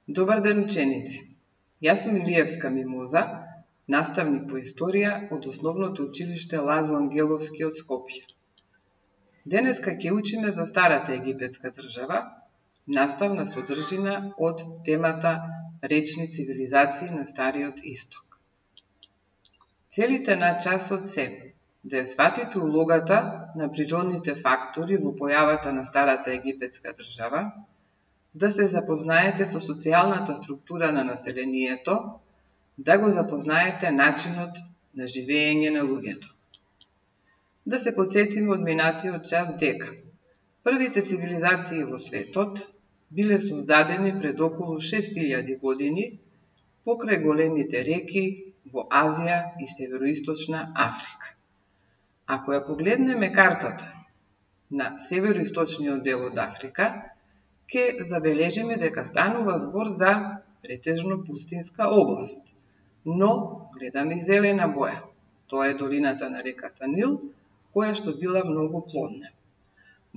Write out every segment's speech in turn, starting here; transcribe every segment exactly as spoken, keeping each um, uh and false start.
Добар ден, ученици! Јас сум Илиевска Мимоза, наставник по историја од Основното училиште Лазо Ангеловски од Скопје. Денеска ќе учиме за старата египетска држава, наставна содржина од темата речни цивилизации на Стариот Исток. Целите на часот се да ја сватите улогата на природните фактори во појавата на старата египетска држава, да се запознаете со социјалната структура на населението, да го запознаете начинот на живење на луѓето. Да се потсетиме од минатиот час дека првите цивилизации во светот биле создадени пред околу шест илјади години покрај големите реки во Азија и Североисточна Африка. Ако ја погледнеме картата на североисточниот дел од Африка, ќе забележиме дека станува збор за претежно пустинска област, но гледаме и зелена боја. Тоа е долината на реката Нил, која што била многу плодна.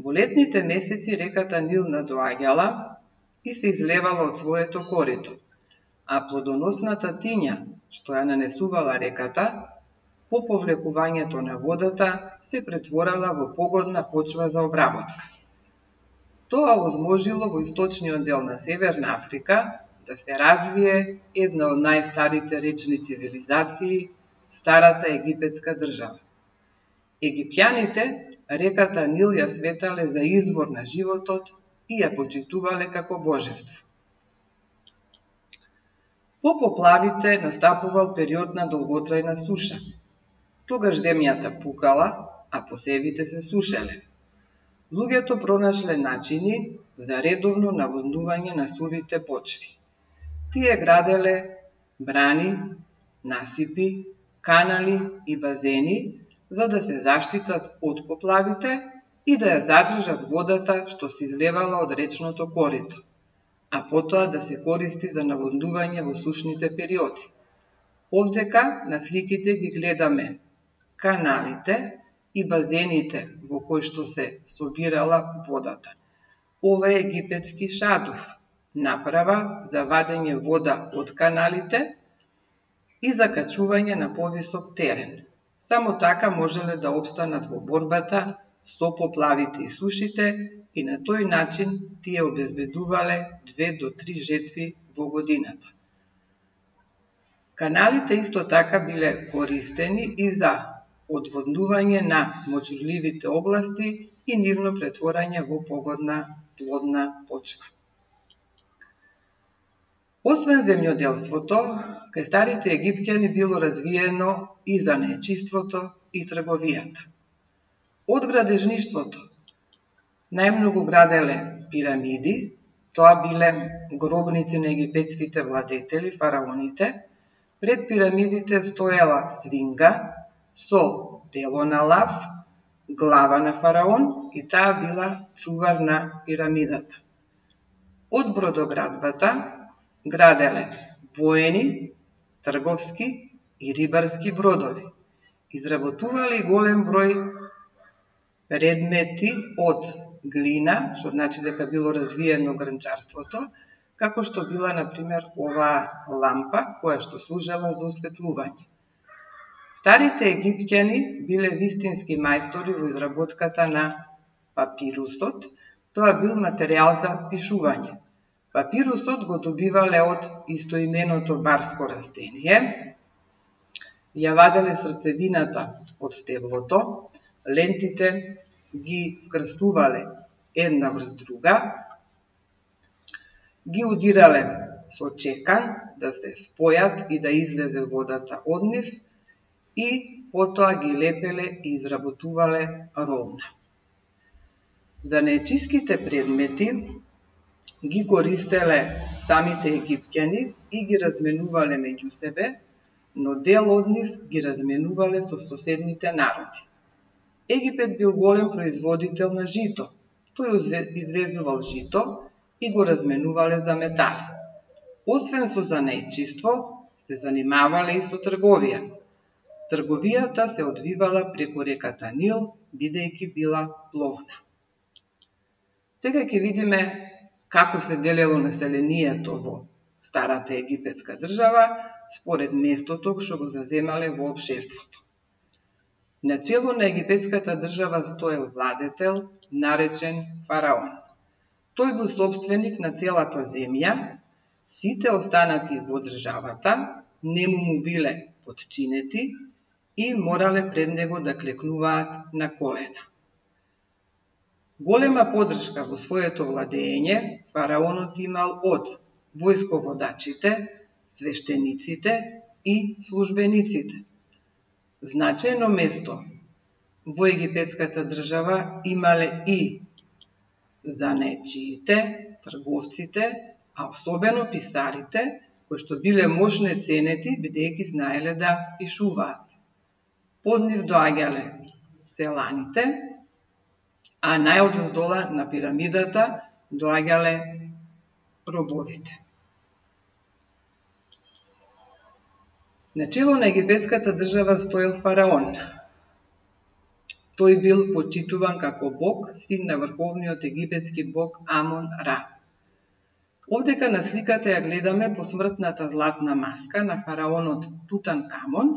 Во летните месеци реката Нил надоаѓала и се излевала од своето корито, а плодоносната тиња што ја нанесувала реката, по повлекувањето на водата се претворала во погодна почва за обработка. Тоа возможило во источниот дел на Северна Африка да се развие една од најстарите речни цивилизации, старата египетска држава. Египјаните реката Нил ја сметале за извор на животот и ја почитувале како божество. По поплавите настапувал период на долготрајна суша. Тогаш земјата пукала, а посевите се сушеле. Луѓето пронашле начини за редовно наводнување на сувите почви. Тие граделе брани, насипи, канали и базени за да се заштитат од поплавите и да ја задржат водата што се излевала од речното корито, а потоа да се користи за наводнување во сушните периоди. Овдека на сликите ги гледаме каналите и базените во кои што се собирала водата. Ова е египетски шадуф, направа за вадење вода од каналите и за качување на повисок терен. Само така можеле да обстанат во борбата со поплавите и сушите и на тој начин тие обезбедувале две до три жетви во годината. Каналите исто така биле користени и за одводнување на мочурливите области и нивно претворање во погодна плодна почва. Освен земјоделството, кај старите египќани било развиено и занаетчиството и трговијата. Од градежништвото најмногу граделе пирамиди, тоа биле гробници на египетските владетели, фараоните. Пред пирамидите стоела свинга со дело на лав, глава на фараон и таа била чувар на пирамидата. Од бродоградбата граделе воени, трговски и рибарски бродови. Изработували голем број предмети од глина, што значи дека било развиено гранчарството, како што била, например, оваа лампа, која што служела за осветлување. Старите египќани биле вистински мајстори во изработката на папирусот. Тоа бил материјал за пишување. Папирусот го добивале од истоименото барско растение, ја ваделе срцевината од стеблото, лентите ги вкрстувале една врз друга, ги удирале со чекан да се спојат и да излезе водата од нив и потоа ги лепеле и изработувале ровна. Занаетчиските предмети ги користеле самите египќани и ги разменувале меѓу себе, но дел од нив ги разменувале со соседните народи. Египет бил голем производител на жито. Тој извезувал жито и го разменувале за метали. Освен со занаетчиство, се занимавале и со трговија. Трговијата се одвивала преку реката Нил, бидејќи била пловна. Сега ќе видиме како се делело населението во старата египетска држава според местото што го заземале во општеството. На чело на египетската држава стоел владетел наречен фараон. Тој бил собственик на целата земја, сите останати во државата нему му биле подчинети и морале пред него да клекнуваат на колена. Голема поддршка во своето владење фараонот имал од војсководачите, свештениците и службениците. Значајно место во египетската држава имале и занаетчиите, трговците, а особено писарите, кои што биле мошне ценети, бидејќи знаеле да пишуваат. Под нив доаѓале селаните, а најодоздола на пирамидата доаѓале робовите. На чело на египетската држава стоел фараон. Тој бил почитуван како бог, син на врховниот египетски бог Амон-Ра. Овдека на сликата ја гледаме посмртната златна маска на фараонот Тутанкамон,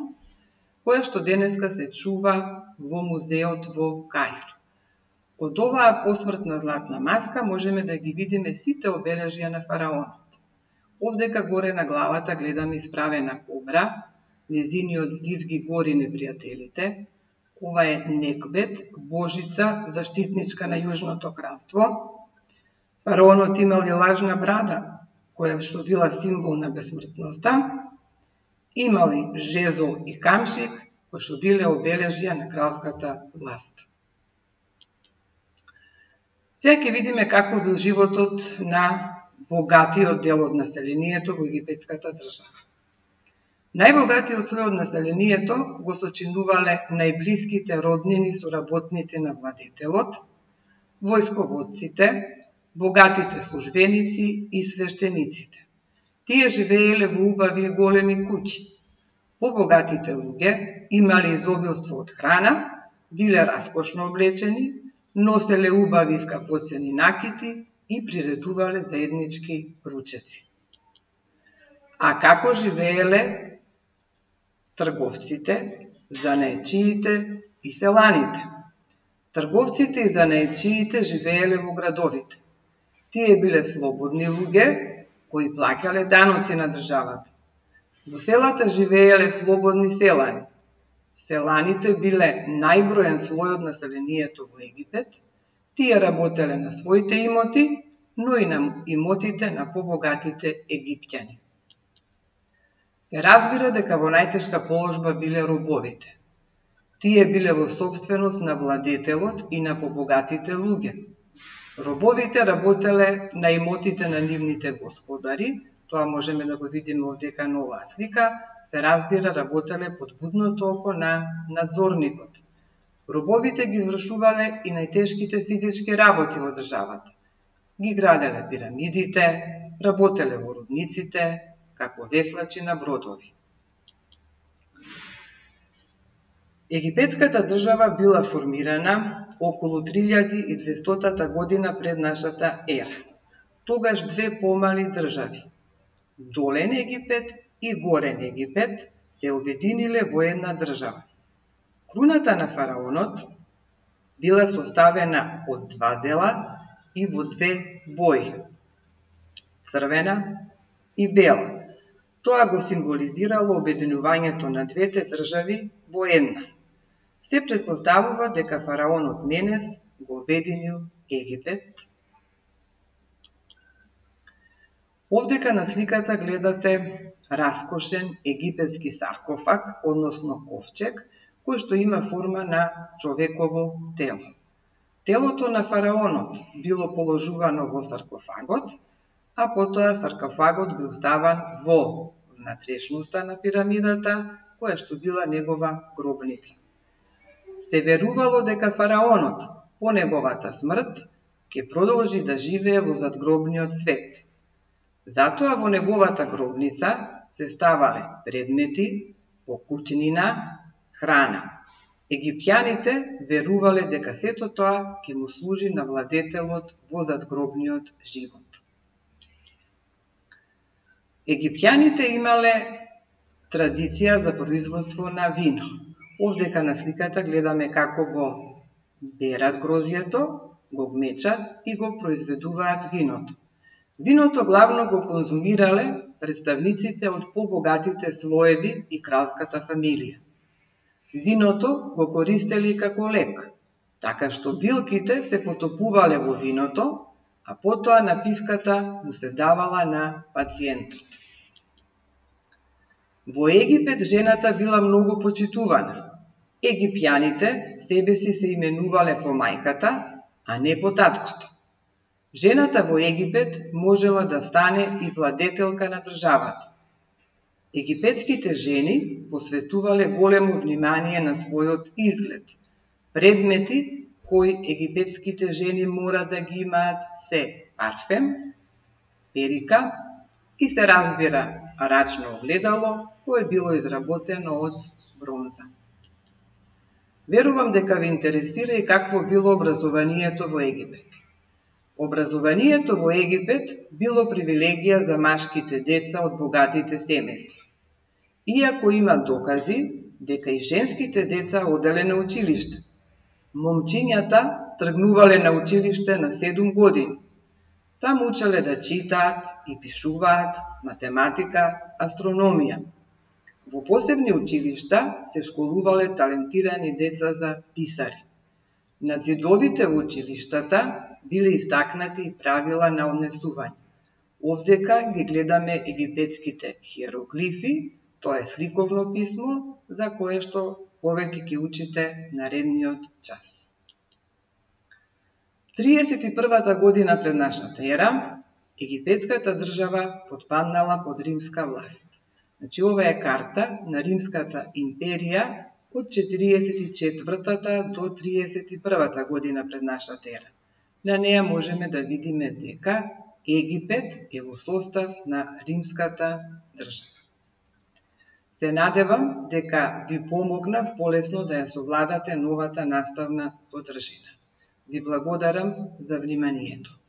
која што денеска се чува во музеот во Каиро. Од оваа посмртна златна маска можеме да ги видиме сите обележја на фараонот. Овдека горе на главата гледаме исправена кобра, незиниот здив ги гори непријателите. Ова е Некбет, божица, заштитничка на Јужното кралство. Фараонот имал и лажна брада, која што била символ на бесмртноста. Имал и жезол и камшик, кои што биле обележја на кралската власт. Сега ќе видиме како бил животот на богатиот дел од населението во египетската држава. Најбогатиот слој од населението го сочинувале најблиските роднини соработници на владетелот, војсководците, богатите службеници и свештениците. Тие живееле во убави и големи куќи. Побогатите луѓе имале изобилство од храна, биле раскошно облечени, носеле убави и скапоцени накити и приредувале заеднички ручеци. А како живееле трговците, занаетчиите и селаните? Трговците и занаетчиите живееле во градовите. Тие биле слободни луѓе кои плаќале даноци на државата. Во селата живееле слободни селани. Селаните биле најброен слој од населението во Египет. Тие работеле на своите имоти, но и на имотите на побогатите египтјани. Се разбира дека во најтешка положба биле робовите. Тие биле во собственост на владетелот и на побогатите луѓе. Робовите работеле на имотите на нивните господари, тоа можеме да го видиме овдека на оваа слика, се разбира работеле под будното око на надзорникот. Робовите ги извршувале и најтешките физички работи во државата. Ги граделе пирамидите, работеле во рудниците, како веслачи на бродови. Египетската држава била формирана околу три илјади и двестота година пред нашата ера. Тогаш две помали држави, Долен Египет и Горен Египет, се обединиле во една држава. Круната на фараонот била составена од два дела и во две бои, црвена и бела. Тоа го символизирало обединувањето на двете држави во една. Се претпоставува дека фараонот Менес го обединил Египет. Овдека на сликата гледате раскошен египетски саркофаг, односно ковчег, кој што има форма на човеково тело. Телото на фараонот било положувано во саркофагот, а потоа саркофагот бил ставан во внатрешноста на пирамидата, која што била негова гробница. Се верувало дека фараонот по неговата смрт ќе продолжи да живее во задгробниот свет. Затоа во неговата гробница се ставале предмети, покутнина, храна. Египтјаните верувале дека сето тоа ќе му служи на владетелот во задгробниот живот. Египтјаните имале традиција за производство на вино. Овдека на сликата гледаме како го берат грозјето, го гмечат и го произведуваат виното. Виното главно го конзумирале представниците од побогатите слоеви и кралската фамилија. Виното го користели како лек, така што билките се потопувале во виното, а потоа напивката му се давала на пациентот. Во Египет жената била многу почитувана. Египјаните себе си се именувале по мајката, а не по таткото. Жената во Египет можела да стане и владетелка на државата. Египетските жени посветувале големо внимание на својот изглед. Предмети кои египетските жени мора да ги имаат се парфем, перика и се разбира рачно огледало кое било изработено од бронза. Верувам дека ве интересира и какво било образованието во Египет. Образованието во Египет било привилегија за машките деца од богатите семејства. Иако има докази дека и женските деца оделе на училиште. Момчињата тргнувале на училиште на седум години. Таму учеле да читаат и пишуваат, математика, астрономија. Во посебни училишта се школувале талентирани деца за писари. На зидовите во училиштата биле истакнати правила на однесување. Овдека ги гледаме египетските хиероглифи, тоа е сликовно писмо, за кое што повеќе ќе учите наредниот час. триесет и првата година пред нашата ера, египетската држава потпаднала под римска власт. Значи, ова е карта на Римската империја од четириесет и четвртата до триесет и првата година пред нашата ера. На неја можеме да видиме дека Египет е во состав на Римската држава. Се надевам дека ви помогнав полесно да ја совладате новата наставна содржина. Ви благодарам за вниманието.